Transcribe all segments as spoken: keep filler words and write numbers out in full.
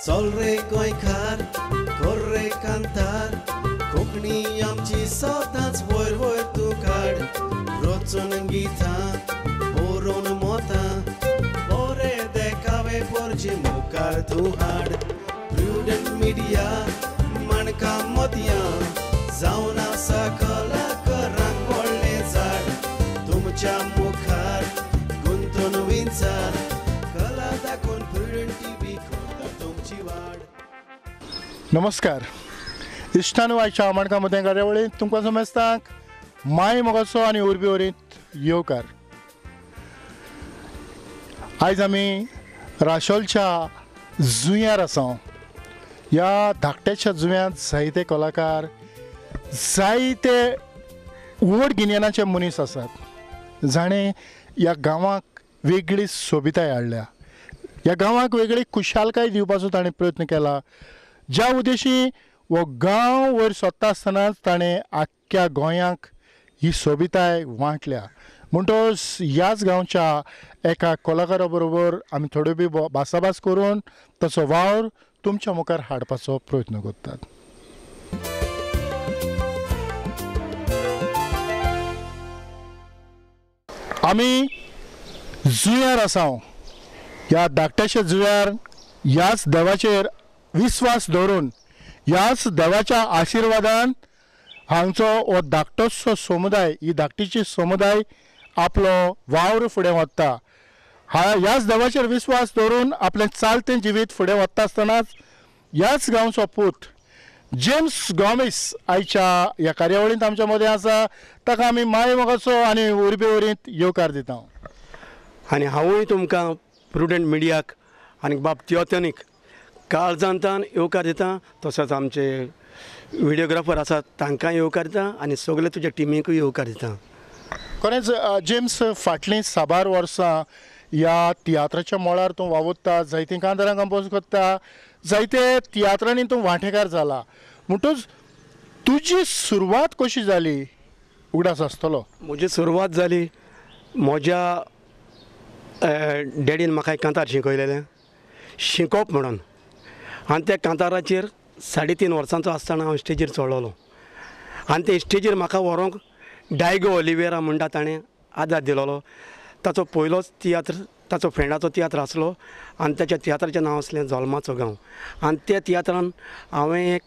चल रे गोंयकार कर रे कांतार कोंकणी आमची सदांच वयर वयर तूं काड रचून गितां बरोवन मोतां बरे देखावे पोरचे मुखार तूं हाड प्रुडंट मिडिया माणकां मोतयां जावन आसा कलाकारांक व्हडलें झाड तुमच्या मुखार गुंतून विंचार कला दाखोवन प्रुडंट टीव्ही करता तुमची वाड. नमस्कार इश्टान आयच्या माणकां मदें कार्यावळींत तुमकां समेस्तांक माय मोगाचो आनी उर्बे वरींत येवकार. आयज आमी राशोलच्या जुंयार आसा. ह्या धाकट्याच्या जुंव्यांत जायते कलाकार जायते व्हड गिन्यानाचे मनीस आसात जाणें ह्या गांवाक वेगळी सोबिताय हाडल्या, ह्या गांवाक वेगळी खुशालकाय दिवपाचो ताणें प्रयत्न केला. ज्या उद्देशी हो गांव वयर सोदता आसतनाच ताणें आख्ख्या गोंयांक ही सोबिताय वांटल्या. म्हणटकच ह्याच गांवच्या एका कलाकारा बरोबर आमी थोड्यो बी भासाभास करून ताचो वावर तुमच्या मुखार हाडपाचो प्रयत्न करतात. आमी जुंयार आसा. ह्या धाकट्याच्या जुंयार ह्याच देवाचेर विस्वास दवरून ह्याच देवाच्या आशिर्वादान हांगचो हो धाकटोसो समुदाय ही धाकटीची समुदाय आपलो वावर फुडें वता. हा ह्याच देवाचेर विस्वास दवरून आपलें चालतें जिवीत फुडें वता आसतनाच ह्याच गांवचो पूत जेम्स गॉमेस आयच्या ह्या कार्यावळींत आमच्या मदें आसा. ताका आमी माय मोगाचो आनी उर्बे वरींत येवकार दिता. आनी हांवूय तुमकां प्रुडंट मिडियाक आनी बाब तियोतनीक काळजांतान येवकार दिता, तसोच आमचे व्हिडियोग्राफर आसात तांकां येवकार दिता आनी सगळे तुज्या टिमीकूय येवकार दिता. खरेंच जेम्स, फाटलीं साबार वर्सां ह्या तियात्राच्या मळार तूं वावुरता, जायतीं कांतारां कंपोज करता, जायते तियात्रांनी तूं वांटेकार जाला. म्हणटूच तुजी सुरवात कशी जाली उगडास आसतलो? म्हजी सुरवात जाली म्हज्या डॅडीन म्हाका एक कांतार शिकयलेलें शिकोवप म्हणून, आनी त्या कांताराचेर साडे तीन वर्सांचो आसतना हांव स्टेजीर चडलेलो आनी ते स्टेजीर म्हाका व्हरूंक डायगो ओलिवेरा म्हणटा ताणें आदार दिलोलो. ताचो पयलोच तियात्र ताचो फ्रेंडाचो तियात्र आसलो आनी ताच्या तियात्राचें नांव आसलें जोल्माचो गांव. आनी त्या तियात्रान हांवें एक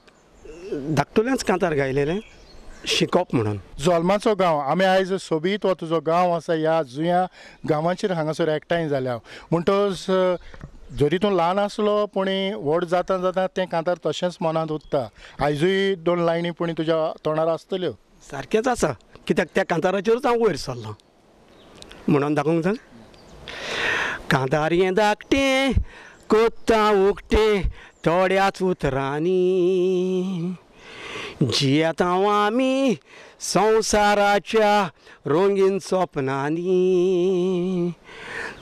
धाकटुलेंच कांतार गायलेलें शिकोवप म्हणून. जोल्माचो गांव आमी आयज सोबीत हो तुजो गांव आसा ह्या जुंया गांवाचेर हांगासर एकठांय जाल्या. म्हणटकच जरी तूं ल्हान आसलो पूण व्हड जाता जाता तें कांतार तशेंच मनांत उरता. आयजूय दोन लायनी पूण तुज्या तोंडार आसतल्यो. सारकेंच आसा, कित्याक त्या कांताराचेरूच हांव वयर सरलां म्हणून दाखोवंक जाय. कांतार हें धाकटें कोत्ता उकतें थोड्याच उतरांनी जियेता आमी संवसाराच्या रंगीन सपनांनी,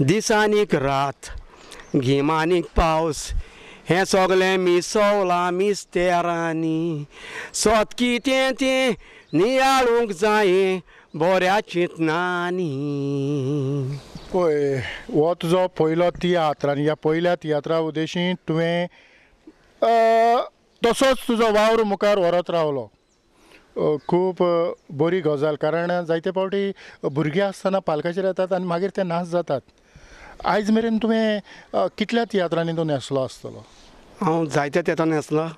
दिसांनीक रात गिमानीक पावस हें सगळें मिसवलां मिस्तेरांनी, सत कितें तें नियाळूंक जायें बऱ्या चिंतनांनी. पळय, हो तुजो पयलो तियात्र आनी ह्या पयल्या तियात्रा उद्देशी तुवें तसोच तुजो वावर मुखार व्हरत रावलो. खूब बरी गजाल, कारण जायते फावटी भुरगीं आसतना पालकाचेर येतात आनी मागीर ते नाश जातात. आयज मेरेन तुवें कितल्या तियात्रांनी तूं न्हेसलो आसतलो? हांव जायत्या तियात्रांनी न्हेसलां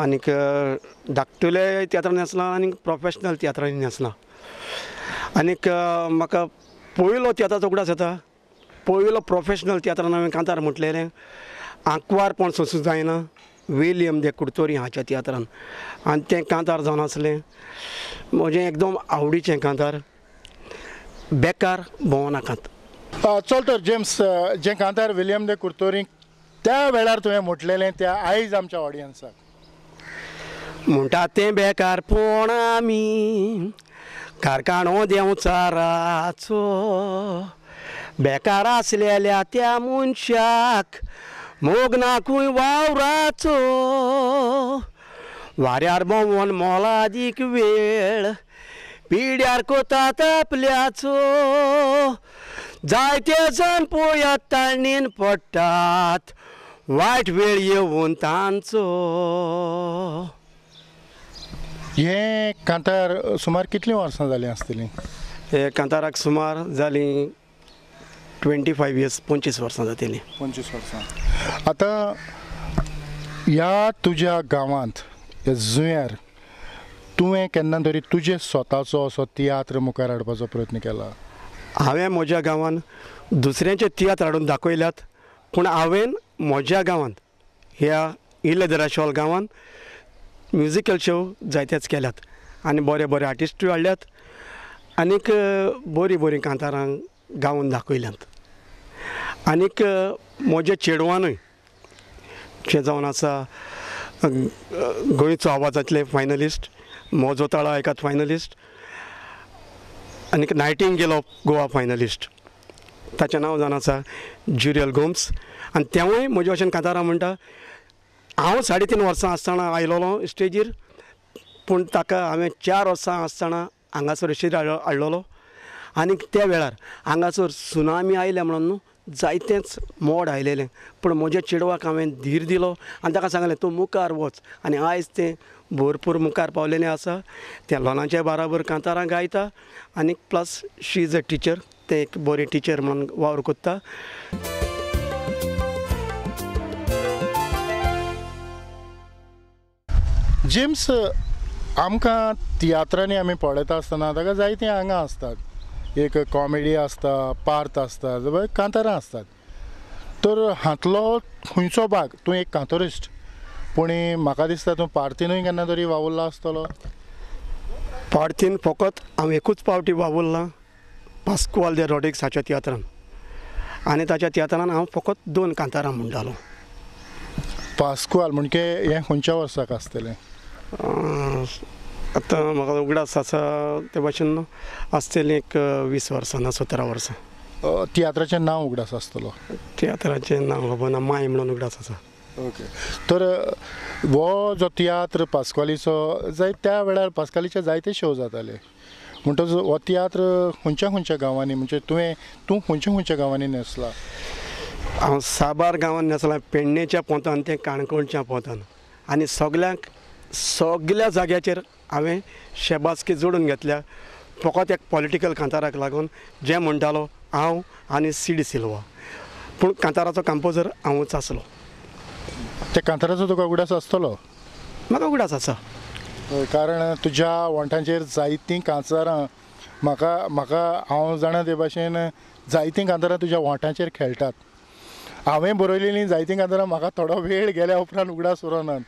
आनीक धाकटुले तियात्रांनी न्हेसलां आनी प्रोफेशनल तियात्रांनी न्हेसलां. आनीक म्हाका पयलो तियात्राचो उगडास येता, पयलो प्रोफेशनल तियात्रान हांवें कांतार म्हटलेलें आंकवारपण सोंसूंक जायना विलियम दे कुडतोरी हाच्या तियात्रान, आनी तें कांतार जावन आसलें म्हजें एकदम आवडीचें कांतार बेकार भोंवनाकात. चल तर जेम्स, जें कांतार विलियम दे कुडतोरी त्या वेळार तुवें म्हटलेलें त्या आयज आमच्या ऑडियन्साक. म्हणटा तें बेकारपण आमी कारखानो देंवचाराचो, बेकार आसलेल्या त्या मनशाक मोग नाकूय वावराचो, वाऱ्यार भोंवन मोलादीक वेळ पिड्यार कोतात आपल्याचो, जायते जाण पळयात ताणेन पडटात वायट वेळ येवन तांचो. हें कांतार सुमार कितलीं वर्सां जालीं आसतलीं? हे कांताराक सुमार जालीं ट्वेंटी फायव इयर्स, पंचवीस वर्सां जातलीं. पंचवीस वर्सां. आतां ह्या तुज्या गांवांत ह्या जुंव्यार तुवें केन्ना तरी तुजे स्वताचो असो तियात्र मुखार हाडपाचो प्रयत्न केला? हांवें म्हज्या गांवांत दुसऱ्यांचे तियात्र हाडून दाखयल्यात, पूण हांवें म्हज्या गांवांत ह्या इल्ले दराशोल गांवांत म्युजिकल शो जायतेच केल्यात आनी बरे बरे आर्टिस्टूय हाडल्यात आनीक बरीं बरीं कांतारां गावन दाखयल्यात. आनीक म्हज्या चेडवानूय जें जावन आसा गोंयचो आवाजांतले फायनलिस्ट, म्हजो ताळो एकाद फायनलिस्ट आनीक नायटिंगेल ऑफ गोवा फायनलिस्ट, ताचें नांव जावन आसा ज्युरियल गोम्स. आनी तेवूय म्हजे भशेन कांतारां म्हणटा. हांव साडे तीन वर्सां आसतना आयलोलो स्टेजीर, पूण ताका हांवें चार वर्सां आसतना हांगासर स्टेजीर हाडलेलो आनी त्या वेळार हांगासर सुनामी आयल्या म्हणून न्हू जायतेंच मोड आयलेलें, पूण म्हज्या चेडवाक हांवें धीर दिलो आनी ताका सांगलें तूं मुखार वच, आनी आयज तें भरपूर मुखार पावलेलें आसा. तें लोनाच्या बाराबर कांतारां गायता आनी plus she is a teacher, तें एक बरी टिचर म्हणून वावर कोत्ता. जेम्स, आमकां तियात्रांनी आमी पळयता आसतना ताका जायतीं आंगां आसतात, एक कॉमेडी आसता, पार्त आसता, कांतारां आसतात. तर हांतलो खंयचो भाग तूं एक कांतोरिस्ट, पूण म्हाका दिसता तूं पार्तीनूय केन्ना तरी वावुरला आसतलो? पार्तीन फकत हांव एकूच पावटी वावुरलां, पास्कुआल दे रॉड्रिग्स हाच्या तियात्रान, आनी ताच्या तियात्रान हांव फकत दोन कांतारां म्हणटालो. पास्कुआल म्हणजे हें खंयच्या वर्साक आसतलें? आतां म्हाका उगडास आसा ते भाशेन आसतलीं एक वीस वर्सां ना सतरा वर्सां. तियात्राचें नांव उगडास आसतलो? तियात्राचें नांव खबर ना, माय म्हणून उगडास आसा. ओके, तर हो जो तियात्र पास्कुआलीचो जाय त्या वेळार पास्कुआलीचे जायते शो जाताले, म्हणटच हो तियात्र खंयच्या खंयच्या गांवांनी, म्हणजे तुवें तूं खंयच्या खंयच्या गांवांनी न्हेसला? हांव साबार गांवांत न्हेसलां, पेडणेच्या पोंतान तें काणकोणच्या पोंतान, आनी सगल्यांक सगल्या जाग्याचेर हांवें शेबासकी जोडून घेतल्या फकत एक पॉलिटिकल कांताराक लागून, जें म्हणटालो हांव आनी सी डी सिल्वा, पूण कांताराचो कंपोजर हांवूच आसलो. त्या कांताराचो तुका उगडास आसतलो? म्हाका उगडास आसा, कारण तुज्या वोंठांचेर जायतीं कांतारां म्हाका म्हाका हांव जाणा ते भाशेन जायतीं कांतारां तुज्या वोंठांचेर खेळटात. हांवें बरयलेलीं जायतीं कांतारां म्हाका थोडो वेळ गेल्या उपरांत उगडास उरनात,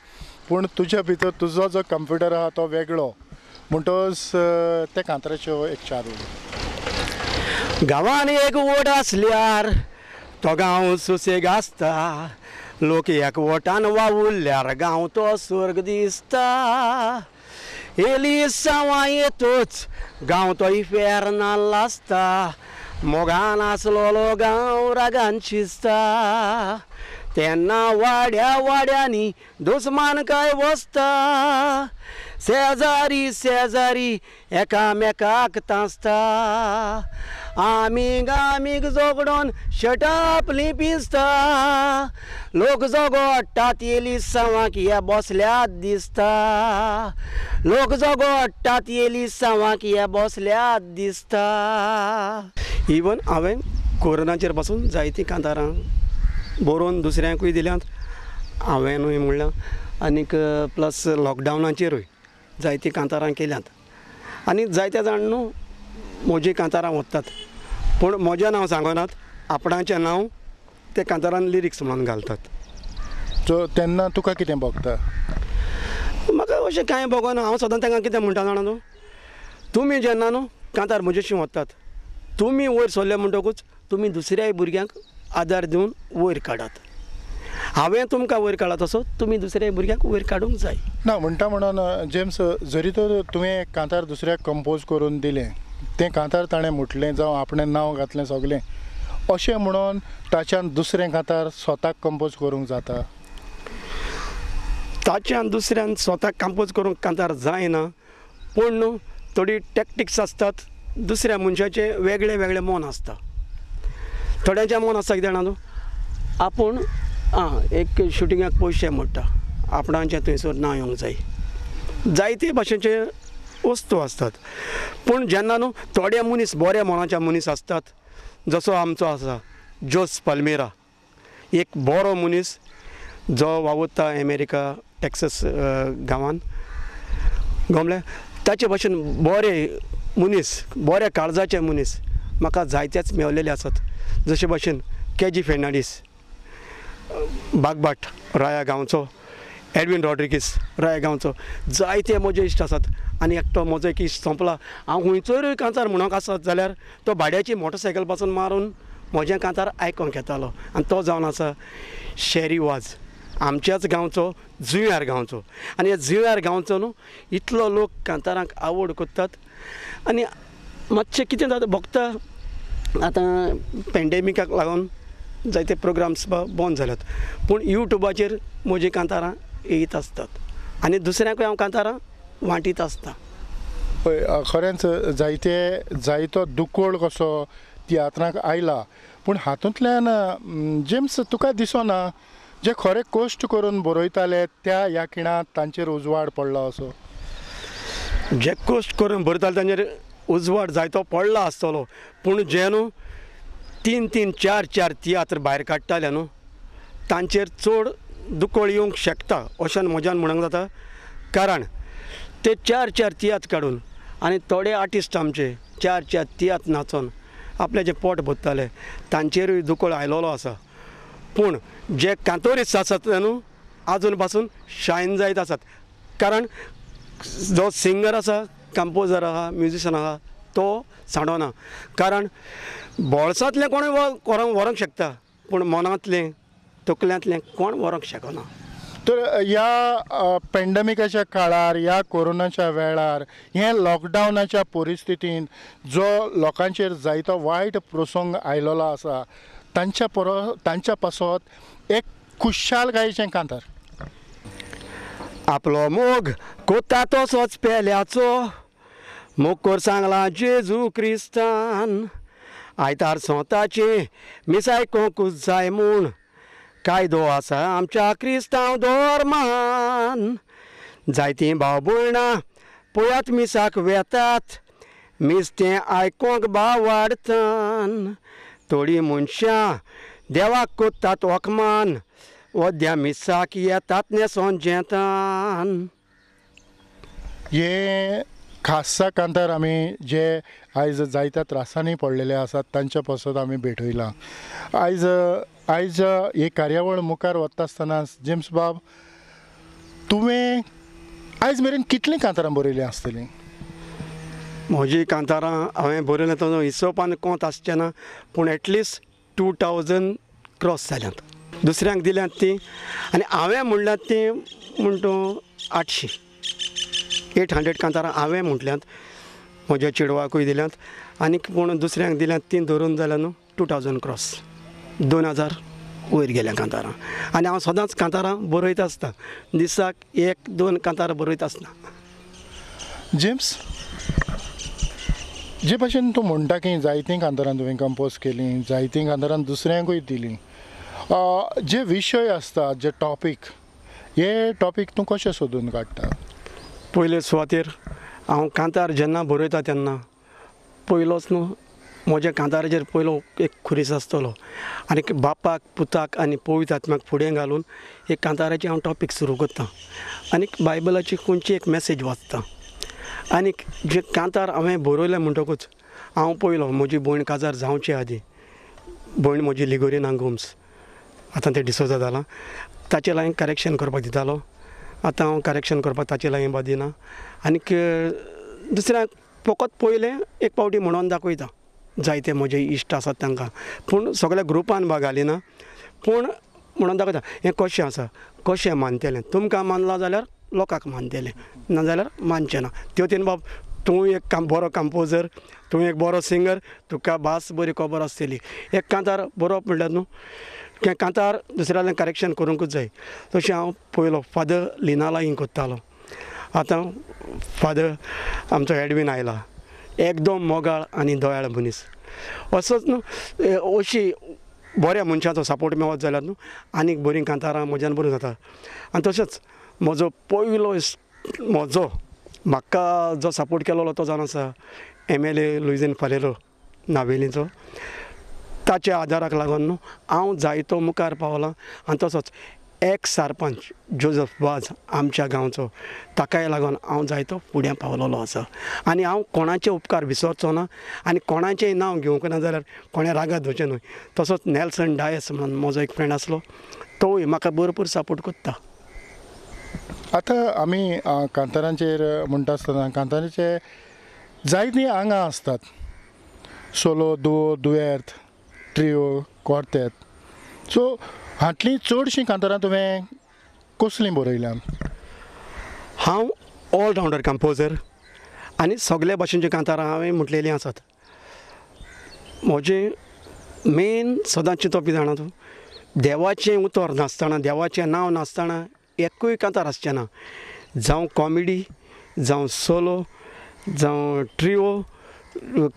पूण तुज्या भितर तुजो जो कंप्युटर आहा तो वेगळो, म्हणटच त्या कांताराच्यो एक चार उडी. गांवांत एक वोट आसल्यार तो गांव सुसेग आसता, लोक एकवटान वावुरल्यार गांव तो स्वर्ग दिसता, एलिसांवां येतच गांव तो इफेर्नाल आसता, मोगान आसलेलो गांव रागान शिजता, तेन्ना वाड्या वाड्यांनी दुस्मान काय वसता, शेजारी शेजारी एकामेकाक तांसता, आमी आमीक झगडोन शर्टां आपलीं पिंजता, लोक झगडटात एलिसांवाक हे बसल्यात दिसता, लोक झगडटात एलिसांवाक हे बसल्यात दिसता. इवन हांवें कोरोनाचेर पासून जायतीं कांतारां बरोवन दुसऱ्यांकूय दिल्यांत, हांवेंनूय म्हणलां, आनीक प्लस लॉकडावनाचेरूय जायतीं कांतारां केल्यांत, आनी जायते जाण न्हू म्हजीं कांतारां व्हरतात, पूण म्हजें नांव सांगनात, आपणाचें नांव ते कांतारान लिरिक्स म्हणून घालतात. सो तेन्ना तुका कितें भोगता? म्हाका अशें कांय भोगना. हांव सदां तांकां कितें म्हणटा जाणा न्हू, तुमी जेन्ना न्हू कांतार म्हजेशी व्हरतात, तुमी वयर सरले म्हणटकूच तुमी दुसऱ्याय भुरग्यांक आदार दिवन वयर काडात. हांवें तुमकां वयर काडला तसो तुमी दुसऱ्या भुरग्यांक वयर काडूंक जाय. ना म्हणटा म्हणून जेम्स, जरी तर तुवें कांतार दुसऱ्याक कंपोज करून दिलें, तें कांतार ताणें म्हटलें जावं आपणें नांव घातलें सगळें, अशें म्हणून ताच्यान दुसरें कांतार स्वताक कंपोज करूंक जाता? ताच्यान दुसऱ्यान स्वताक कंपोज करूंक कांतार जायना, पूण न्हू थोडी टॅक्टिक्स आसतात, दुसऱ्या मनशाचें वेगळें वेगळें मन आसता. थोड्यांचें मन आसता कितें जाणा न्हू, आपूण आं एक शुटिंगाक पयशे मोडटा, आपणाचें थंयसर नांव येवंक जाय, जायते भाशेचे वस्तू आसतात. पूण जेन्ना न्हू थोडे मनीस बऱ्या मनाचे मनीस आसतात, जसो आमचो आसा जोस पाल्मेरा, एक बरो मनीस जो वावुरता अमेरिका टेक्सस गांवान गमले, ताचे भशेन बरे मनीस बऱ्या काळजाचे मनीस म्हाका जायतेच मेवलेले आसात. जशे भशेन के जी फेर्नांडीस बागबाट राया गांवचो, एडवीन रॉड्रिगीस राया गांवचो, जायते म्हजे इश्ट आसात. आनी एकटो म्हजो एक इश्ट सोंपला, हांव खंयचोय कांतार म्हणूंक आसत जाल्यार तो भाड्याची मोटरसायकल पासून मारून म्हजें कांतार आयकोंक येतालो, आनी तो जावन आसा शेरी वाज, आमच्याच गांवचो, जुंव्यार गांवचो. आनी ह्या जुंव्यार गांवचो न्हू इतलो लोक कांतारांक आवड करतात. आनी मातशें कितें जाता भोगता, आतां पेंडेमिकाक लागून जायते प्रोग्राम्स बंद जाल्यात, पूण यूट्यूबाचेर म्हजीं कांतारां येयत आसतात आनी दुसऱ्यांकूय हांव कांतारां वांटीत आसता. पळय खरेंच जायते जायतो दुकोळ कसो तियात्राक आयला, पूण हातूंतल्यान जेम्स तुका दिसना जे खरे कश्ट करून बरयताले त्या ह्या खिणांत तांचेर उजवाड पडला असो? जे कश्ट करून बरयताले तांचेर उजवाड जायतो पडला आसतलो, पूण जे न्हू तीन तीन चार चार तियात्र भायर काडटाले न्हू तांचेर चड दुकळ येवंक शकता अशें म्हज्यान म्हणूंक जाता. कारण ते चार चार तियात्र काडून आनी थोडे आर्टिस्ट आमचे चार चार तियात्र नाचोन आपल्याचें पोट भरताले, तांचेरूय दुकळ आयलोलो आसा. पूण जे कांतोरिस्ट आसात न्हू आजून पासून शायन जायत आसात, कारण जो सिंगर आसा, कंपोजर आहा, म्युजिशन आहा तो सांडोना, कारण बोळसांतलें कोणूय व्हरूंक शकता पूण मनांतलें तकल्यांतलें कोण व्हरूंक शकना. तर ह्या पेंडमिकाच्या काळार, ह्या कोरोनाच्या वेळार, हे लॉकडावनाच्या परिस्थितीन जो लोकांचेर जायतो वायट प्रसंग आयलेलो आसा तांच्या परो तांच्या पासत एक खुशालकायेचें कांतार. आपलो मोग कोता तसोच पेल्याचो, मोग सांगला जेजू क्रिस्तान, आयतार सोताचें मिसाय कोंकूच जाय म्हूण कायदो आसा आमच्या क्रिस्तांव धर्मान. जायतीं भाव भयणां पळयात मिसाक वेतात, मीस तें आयकोंक बावाडतान, थोडीं मनशां देवाक कोत्तात वखमान, वद्या मिसाक येतात न्हेसोन जेतान. हे खासा कांतार आमी जे आयज जायत्या त्रासांनी पडलेले आसात तांच्या पासत आमी भेटयलां. आयज आयज ही कार्यावळ मुखार वता आसतना जेम्स बाब तुवें आयज मेरेन कितलीं कांतारां बरयलीं आसतलीं? म्हजी कांतारां हांवें बरयलें तो हिसोबान कोंत आसचें ना, पूण at least two thousand cross जाल्यात. दुसऱ्यांक दिल्यात तीं आनी हांवें म्हणल्यात तीं म्हण तूं आठशीं एट हंड्रेड कांतारां हांवें म्हटल्यात, म्हज्या चेडवाकूय दिल्यात आनी पूण दुसऱ्यांक दिल्यात तीं धरून जाल्यार न्हू टू थावजंड क्रॉस, दोन हजार वयर गेल्या कांतारां. आनी हांव सदांच कांतारां बरयत आसता, दिसाक एक दोन कांतारां बरयत आसता. जेम्स, जे भाशेन तूं म्हणटा की जायतीं कांतारां तुवें कंपोज केलीं, जायतीं कांतारां दुसऱ्यांकूय दिलीं, जे विशय आसता, जे टॉपीक, हे टॉपीक तूं कशें सोदून काडटा? पयले सुवातेर हांव कांतार जेन्ना बरयता तेन्ना पयलोच न्हू म्हज्या कांताराचेर पयलो एक खुरीस आसतलो आनी बापाक पुताक आनी पवित्र आत्म्याक फुडें घालून एक कांताराची हांव टॉपीक सुरू करता आनी बायबलाची खंयची एक मॅसेज वाचता. आनी जे कांतार हांवें बरयलें म्हणटकूच हांव पयलो म्हजी भयण काजार जावचे आदीं, भयण म्हजी लिगोरिना गोम्स, आतां तें डिसोजा जालां, ताचे लागीं करेक्शन करपाक दितालो. आतां हांव करेक्शन करपाक ताचे लागीं बा दिना आनीक दुसऱ्यांक फकत पयलें एक पावटी म्हणून दाखयता, जायते म्हजे इश्ट आसात तांकां, पूण सगळ्या ग्रुपान बा घालिना, पूण म्हणून दाखयता हें कशें आसा, कशें मानतलें, तुमकां मानलां जाल्यार लोकांक मानतलें, नाजाल्यार मानचें ना. त्यो तेन बाब तूं एक काम बरो कंपोजर, तूं एक बरो सिंगर, तुका भास बरी खबर आसतली. एक कांतार बरोवप म्हणल्यार न्हू तें कांतार दुसऱ्याल्यान करेक्शन करूंकूच जाय. तशें हांव पयलो फादर लिना लागीं करतालो, आतां फादर आमचो एडवीन आयला, एकदम मोगाळ आनी दयाळ मनीस. असोच न्हू अशी बऱ्या मनशाचो सपोर्ट मेळत जाल्यार न्हू आनीक बरीं कांतारां म्हज्यान बरोवंक जाता. आनी तशेंच म्हजो पयलो म्हजो म्हाका जो सपोर्ट केलोलो तो जावन आसा M L A Luizinho Faleiro नावेलीचो. ताच्या आदाराक लागून न्हू हांव जायतो मुखार पावलां. आनी तसोच एक्स सरपंच जोजफ वाज आमच्या गांवचो, ताकाय लागून हांव जायतो फुडें पावलेलो आसा. आनी हांव कोणाचे उपकार विसरचो ना आनी कोणाचें नांव घेवंक ना जाल्यार कोणें रागार धरचें न्हय. तसोच नेल्सन डायस म्हणून म्हजो एक फ्रेंड आसलो, तोवूय म्हाका भरपूर सपोर्ट करता. आतां आमी कांतारांचेर म्हणटा आसतना कांतारांचे जायतीं आंगां आसतात, सोलो, दुओ, दुयेर्त, ट्रियो, क्वार्तेत. सो हांतलीं चडशीं कांतारां तुवें कसलीं बरयल्यांत? हांव ऑलरावंडर कंपोजर आनी सगल्या भाशेंचीं कांतारां हांवें म्हटलेलीं आसात. म्हजें मेन सदांच चिंतप कितें जाणा तूं, देवाचें उतर नासतना, देवाचें नांव नासतना एकूय कांतार आसचें ना. जावं कॉमेडी, जावं सोलो, जावं ट्रियो,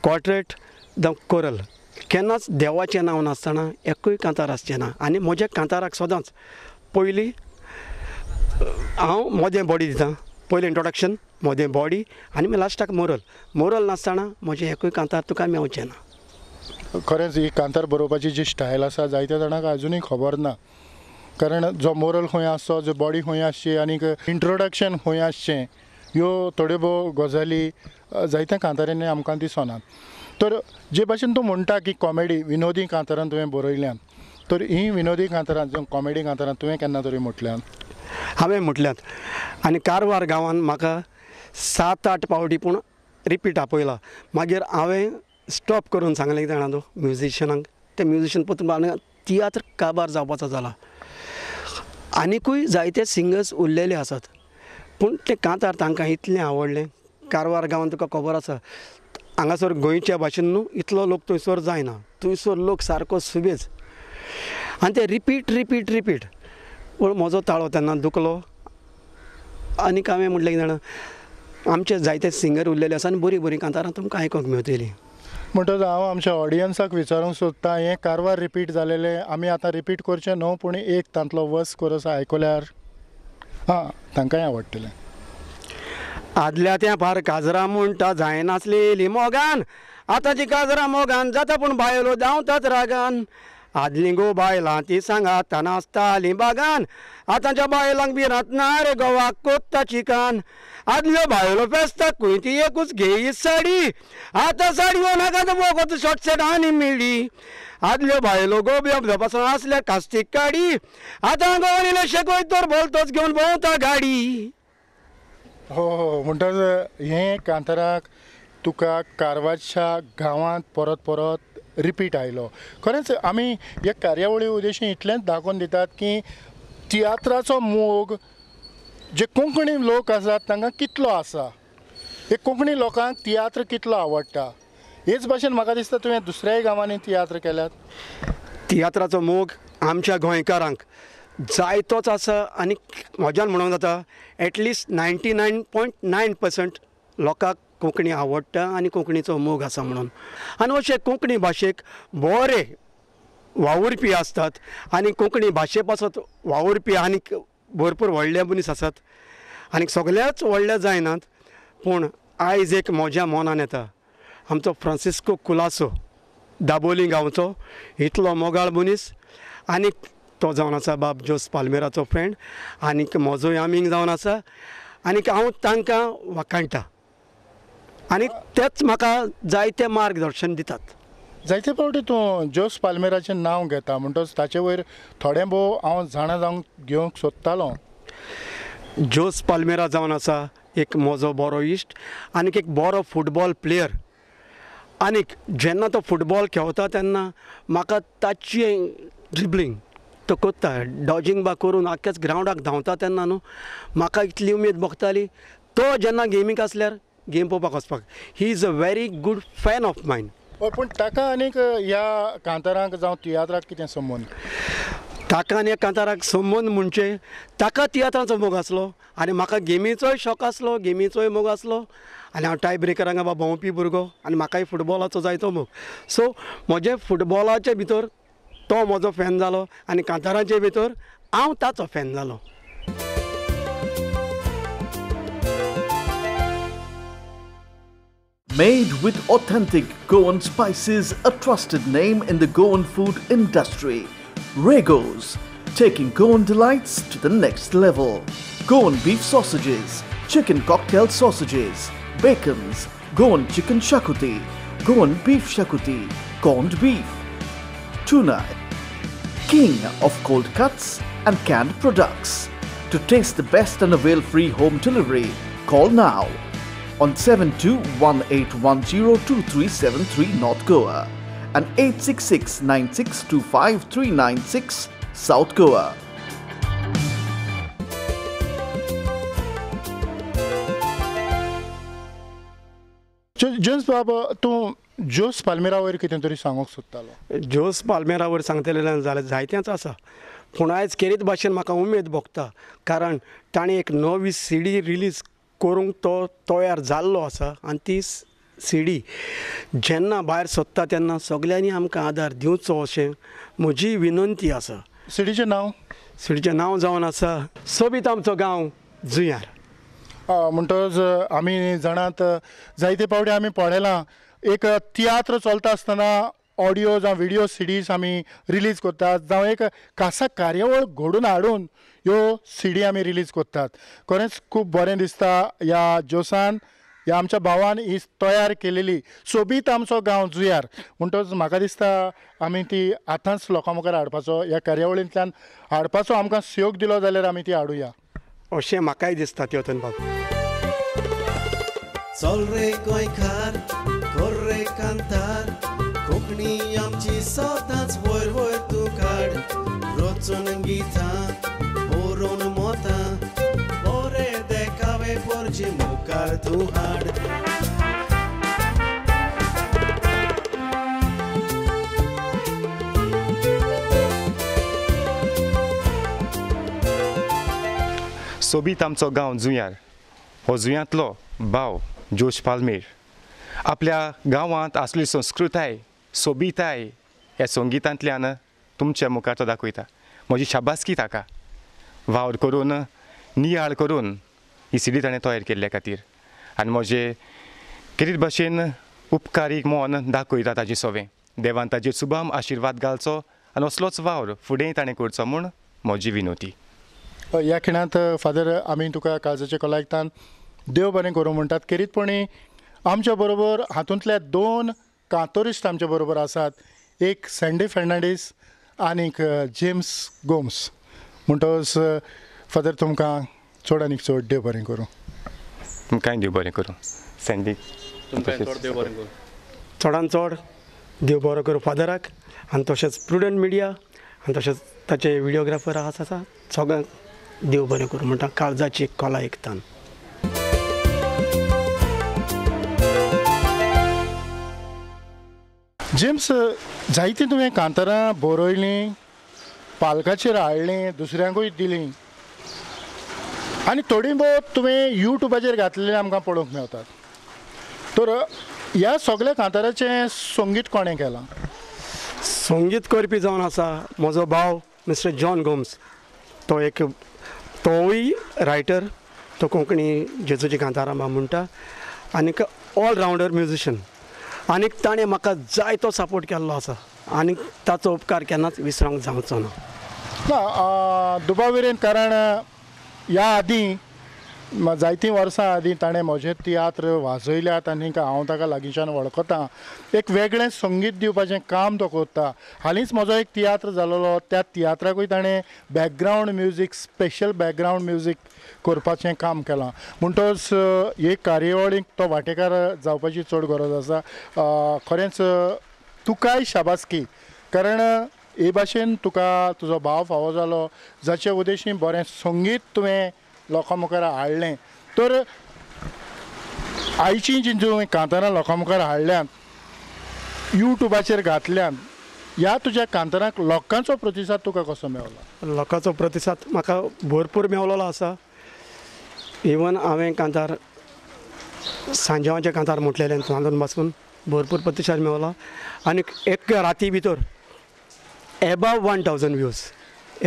क्वार्टेट, जावं कोरल, केन्नाच देवाचें नांव नासतना एकूय कांतार आसचें ना. आनी म्हज्या कांताराक सदांच पयलीं हांव मोदें बॉडी दितां, पयलें इंट्रोडक्शन मोदें बॉडी आनी मागीर लास्टाक मोरल. मोरल नासतना म्हजें एकूय कांतार तुका मेवचें ना. खरेंच ही कांतार बरोवपाची जी स्टायल आसा जायत्या जाणांक आजुनूय खबर ना, कारण जो मोरल खंय आसचो, जो बॉडी खंय आसची आनीक इंट्रोडक्शन खंय आसचें, ह्यो थोड्यो भोव गजाली जायत्या कांतारांनी आमकां दिसनात. तर जे भाशेन तूं म्हणटा की कॉमेडी विनोदी कांतारां तुवें बरयल्यांत, तर हीं विनोदी कांतारां जावं कॉमेडी कांतारां तुवें केन्ना तरी म्हटल्यांत? हांवें म्हटल्यात. आनी कारवार गांवांत म्हाका सात आठ पावटी पूण रिपीट आपयला. मागीर हांवें स्टॉप करून सांगलें कितें जाणा तूं म्युजिशनांक, ते म्युजिशन परतून तियात्र काबार जावपाचो जाला. आनिकूय जायते सिंगर्स उरलेले आसात, पूण ते कांतार तांकां इतलें आवडलें. कारवार गांवांत तुका खबर आसा, हांगासर गोंयच्या भाशेन न्हू इतलो लोक थंयसर जायना, थंयसर लोक सारको सुबेज आनी ते रिपीट रिपीट रिपीट. पूण म्हजो ताळो तेन्ना दुखलो आनीक हांवें म्हटलें कितें जाणा, आमचे जायते सिंगर उरलेले आसा आनी बरीं बरीं कांतारां तुमकां आयकूंक मेळटलीं. म्हणटकच हांव आमच्या ऑडियन्साक विचारूंक सोदतां, हें कारवार रिपीट जालेलें आमी आतां रिपीट करचें न्हू, पूण एक तांतलो वस कोरस आयकल्यार आं तांकांय आवडटलें. आदल्या त्या फार काजरां म्हणटा जायनासलेली मोगान, आतांची काजरां मोगान जाता पूण बायलो धांवतात रागान. आदलीं गो बायलां ती सांगात नासतालीं बागान, आतांच्या बायलांक भिरांत ना रे गोवाक कोत्ता चिकान. आदल्यो बायलो फेस्ताक खंय ती एकूच घेयी साडी, आतां साडयो नाका वखद शॉर्ट सेट आनी मिडी. आदल्यो बायलो गोबयो धपासून आसल्या कास्तीक काडी, आतां गोवान शेकय तर बोलतोच घेवन भोंवता गाडी. हो हो, म्हणटच हें कांताराक तुका कारवारच्या गांवांत परत परत रिपीट आयलो. खरेंच आमी ह्या कार्यावळी उद्देशी इतलेंच दाखोवन दितात की तियात्राचो मोग जे कोंकणी लोक आसात तांकां कितलो आसा, हे कोंकणी लोकांक तियात्र कितलो आवडटा. हेच भाशेन म्हाका दिसता तुवें दुसऱ्याय गांवांनी तियात्र केल्यात. तियात्राचो मोग आमच्या गोंयकारांक जायतोच आसा आनी म्हज्यान म्हणूंक जाता at least ninety nine point nine percent लोकांक कोंकणी आवडटा आनी कोंकणीचो मोग आसा म्हणून. आनी अशे कोंकणी भाशेक बरे वावुरपी आसतात आनी कोंकणी भाशे पासत वावुरपी आनीक भरपूर व्हडले मनीस आसात आनी सगळ्याच व्हडले जायनात, पूण आयज एक म्हज्या मनान येता आमचो फ्रांसिस्को कुलासो दाबोली गांवचो इतलो मोगाळ मनीस आनी तो जावन आसा बाब जोस पाल्मेराचो फ्रेंड आनीक म्हजोय आमीग जावन आसा आनीक हांव तांकां वाखाणटा आनी तेच म्हाका जायते मार्गदर्शन दितात. जायते फावटी तूं जोस पाल्मेराचें नांव घेता म्हणटच ताचे वयर थोडें भोव हांव जाणा जावंक घेवंक सोदतालो. जोस पाल्मेरा जावन आसा एक म्हजो बरो इश्ट आनीक एक बरो फुटबॉल प्लेयर आनीक जेन्ना तो फुटबॉल खेळता तेन्ना म्हाका ताची ड्रिबलींग तो करता डॉजींग बा करून आख्याच ग्रावंडाक धांवता तेन्ना न्हू म्हाका इतली उमेद भोगताली. तो जेन्ना गेमीक आसल्यार गेम पळोवपाक वचपाक, he is a very good fan of mine. पूण ताका आनीक ह्या कांतारांक जावं तियात्राक कितें संबंद? ताका आनी कांताराक संबंद म्हणजे ताका तियात्रांचो मोग आसलो आनी म्हाका गेमीचोय शॉक आसलो, गेमीचोय मोग आसलो आनी हांव टाय ब्रेकरांक बाबा भोंवपी भुरगो आनी म्हाकाय फुटबॉलाचो जायतो मोग. सो म्हजें फुटबॉलाचे भितर तो म्हजो फॅन जालो आनी कांतारांचे भितर हांव ताचो फॅन जालो. Made with authentic Goan spices, a trusted name in the Goan food industry, Regos, taking Goan delights to the next level. Goan beef sausages, chicken cocktail sausages, bacons, Goan chicken shakuti, Goan beef shakuti, corned beef, tuna, king of cold cuts and canned products. To taste the best and avail free home delivery, call now on seven two one eight one zero two three seven three North Goa and eight six six nine six two five three nine six South Goa. James बाब, तूं Jos palmyra वयर कितें तरी सांगूंक सोदतालो. Jos palmyra वयर सांगतलें जाल्यार जायतेंच आसा, पूण आयज खेरीत भाशेन म्हाका उमेद भोगता, कारण ताणें एक नवी सी डी रिलीज करूंक तो तयार जाल्लो आसा आनी ती सी डी जेन्ना भायर सोदता तेन्ना सगल्यांनी आमकां आदार दिवचो अशें म्हजी विनंती आसा. सी डीचें नांव? सी डीचें नांव जावन आसा सोबीत आमचो गांव जुंयार. म्हणटकच आमी जाणात जायते फावटी आमी पळयलां एक तियात्र चलता आसतना ऑडियो जावं विडियो सिडीज आमी रिलीज करतात, जावं एक खासा कार्यावळ घडोवन हाडून ह्यो सिडी आमी रिलीज करतात. खरेंच खूब बरें दिसता ह्या जोसान, ह्या आमच्या भावान ही तयार केलेली सोबीत आमचो गांव जुंयार. म्हणटकच म्हाका दिसता आमी ती आतांच लोकां मुखार हाडपाचो, ह्या कार्यावळींतल्यान हाडपाचो आमकां सहयोग दिलो जाल्यार आमी ती हाडुया अशें म्हाकाय दिसता. तेवतन बाब चल रे गोंयकार, कर रे कांतार, कोंकणी आमची सदांच वयर वयर तूं काड, रचून गितां बरोवन मोतां, बरे देखावे पोरचे मुखार तूं हाड. सोबीत आमचो गांव जुंयार हो जुंयांतलो भाव जोश पाल्मेर आपल्या गांवांत आसली संस्कृताय सोबीताय ह्या संगितांतल्यान तुमच्या मुखार तो दाखयता. म्हजी शाबासकी ताका वावर करून नियाळ करून ही सिडी ताणें तयार केल्ल्या खातीर आनी म्हजे खेरीत भाशेन उपकारीक मन दाखयता ताजे सवें. देवान ताजेर सुभाम आशिर्वाद घालचो आनी असलोच वावर फुडेंय ताणें करचो म्हूण म्हजी विनोती. ह्या खिणांत फादर आमी तुका काळजाचे कलायकतान देव बरें करूं म्हणटात. खेरीतपणी आमच्या बरोबर हातूंतल्या दोन कांतोरिस्ट आमच्या बरोबर आसात, एक सँडी फर्नांडीस आनीक जेम्स गोम्स. म्हणटकच फादर तुमकां चड आनीक चड देव बरें करूं. तुमकांय देव बरें करूं सँडी, चडान चड देव बरो करूं फादराक आनी तशेंच प्रुडंट मिडिया आनी तशेंच ताचे विडियोग्राफर आसा आसा सगळ्यांक देव बरें करूं म्हणटा काळजाची कला एकतान. जेम्स, जायतीं तुवें कांतारां बरयलीं, पालकाचेर हाडलीं, दुसऱ्यांकूय दिलीं आनी थोडीं भोव तुवें युट्यूबाचेर घातलेलीं आमकां पळोवंक मेळटात. तर ह्या सगळ्या कांताराचें संगीत कोणें केलां? संगीत करपी जावन आसा म्हजो भाव मिस्टर जॉन गोम्स. तो एक तोवूय रायटर, तो कोंकणी जेजूची कांतारां म्हणटा आनीक ऑलरावंडर म्युजिशन आनीक ताणें म्हाका जायतो सपोर्ट केल्लो आसा आनीक ताचो उपकार केन्नाच विसरूंक जावचो ना. ना दुबाविरेन, कारण ह्या आदीं जायतीं वर्सां आदीं ताणें म्हजे तियात्र वाजयल्यात आनी हांव ताका लागींच्यान वळखतां. एक वेगळें संगीत दिवपाचें काम तो करता. हालींच म्हजो एक तियात्र जालोलो, त्या तियात्राकूय ताणें background music, special background music करपाचें काम केलां. म्हणटकच हे कार्यावळीक तो वांटेकार जावपाची चड गरज आसा. खरेंच तुकाय शाबासकी, कारण हे भाशेन तुका तुजो भाव फावो जालो, जाचे उद्देशी बरें संगीत तुवें लोकां मुखार हाडलें. तर आयची जी तुवें कांतारां लोकां मुखार हाडल्यांत, युट्यूबाचेर घातल्यान, ह्या तुज्या कांतारांक लोकांचो प्रतिसाद तुका कसो मेवला? लोकांचो प्रतिसाद म्हाका भरपूर मेवलेलो आसा. इवन हांवें कांतार सांजेवाचें कांतार म्हटलेलें तातूंत पासून भरपूर प्रतिसाद मेवला आनी एक राती भितर एबाव वन थावजंड व्यूज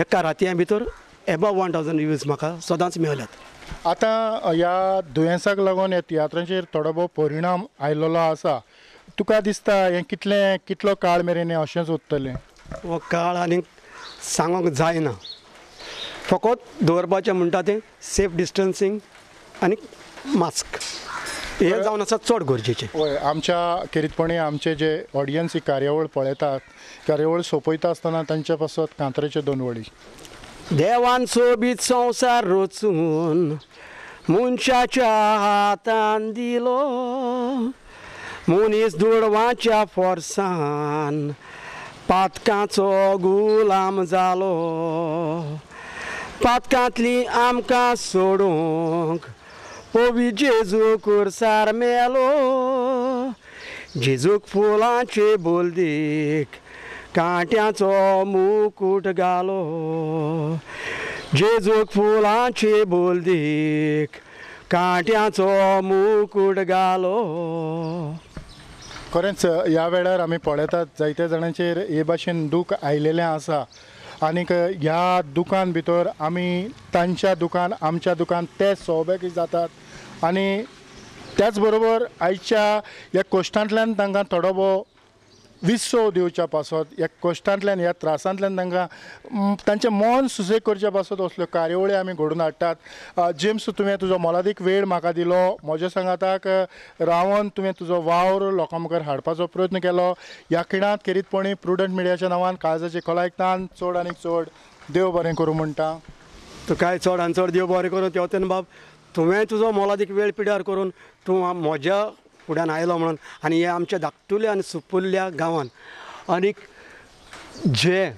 एका रातयां भितर एबाव वन थावजंड व्यूज म्हाका सदांच मेळ्ळ्यात. आतां ह्या दुयेंसाक लागून ह्या तियात्रांचेर थोडो भोव परिणाम आयलेलो आसा, तुका दिसता हें कितलें कितलो काळ मेरेन हें अशेंच उरतलें? हो काळ आनीक सांगूंक जायना, फकत दवरपाचें म्हणटा तें सेफ डिस्टन्सींग आनी मास्क हें जावन आसा चड गरजेचें. हय, आमच्या खेरीतपणी आमचे जे ऑडियन्स ही कार्यावळ पळयतात, कार्यावळ सोंपयता आसतना तांच्या पासत कांतराच्यो दोन वळी. देवान सोबीत संवसार रचून मनशाच्या हातान दिलो, मनीस दुडवाच्या फोर्सान पातकांचो गुलाम जालो, पातकांतली आमकां सोडूंक पवी जेजू कुर्सार मेलो, जेजूक फुलांचे बोलदीक कांट्याचो मुकूट घालो, जेजूक फुलांचे बोलदीक कांट्याचो मुकूट घालो. खरेंच ह्या वेळार आमी पळयतात जायत्या जाणांचेर हे भाशेन दूख आयलेलें आसा आनीक ह्या दुकान भितर आमी तांच्या दुकान आमच्या दुकान ते सोबेक जातात आनी त्याच बरोबर आयच्या ह्या कश्टांतल्यान तांकां थोडो भोव विसव दिवच्या पासत, ह्या कश्टांतल्यान ह्या त्रासांतल्यान तांकां तांचें मन सुसेग करच्या पासत असल्यो कार्यावळी आमी घडोवन हाडटात. जेम्स, तुवें तुजो मोलादीक वेळ म्हाका दिलो, म्हज्या सांगाताक रावन तुवें तुजो वावर लोकां मुखार हाडपाचो प्रयत्न केलो. ह्या खिणांत खेरीतपणी प्रुडंट मिडियाच्या नांवान काळजाचे खोलायतान चड आनी चड देव बरें करूं म्हणटा. तुकाय चड आनी चड देव बरें करूं तेवतेन बाब, तुवें तुजो मोलादीक वेळ पिड्यार करून तूं म्हज्या फुड्यान आयलो म्हणून आनी हे आमच्या धाकटुल्या आनी सुपुल्ल्या गांवान आनीक जे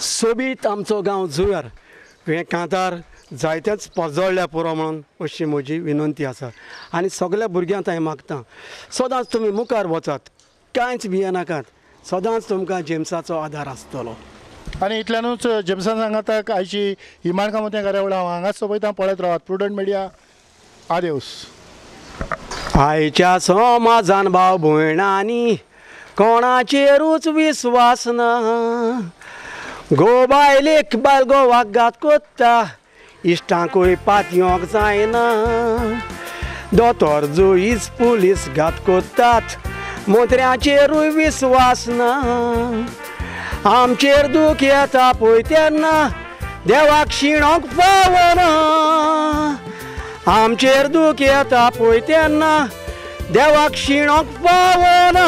सोबीत आमचो गांव जुंव्यार हें कांतार जायतेच पोजोळ्ळ्या पुरो म्हणून अशी म्हजी विनंती आसा. आनी सगल्या भुरग्यांक हांवें मागता सदांच तुमी मुखार वचात, कांयच भियेनाकात, सदांच तुमकां जेम्साचो आदार आसतलो. आनी इतल्यानूच जेम्सान सांगाताक आयची ही माणकां मोतयां कार्यावळ हांव हांगाच सोंपयता. पळयत रावात प्रुडंट मिडिया. आदेवस. आयच्या समाजान भाव भयणांनी कोणाचेरूच विस्वास ना, गो बायलेक बायल गोवाक घात कोत्ता, इश्टांकूय पातयोंक जायना, दोतोर जुईज पुलीस घात कोत्तात, मंत्र्यांचेरूय विस्वास ना, आमचेर दूख येता पळय तेन्ना देवाक शिणोंक पावना, आमचेर दूख येता पळय तेन्ना देवाक शिणोंक पावना.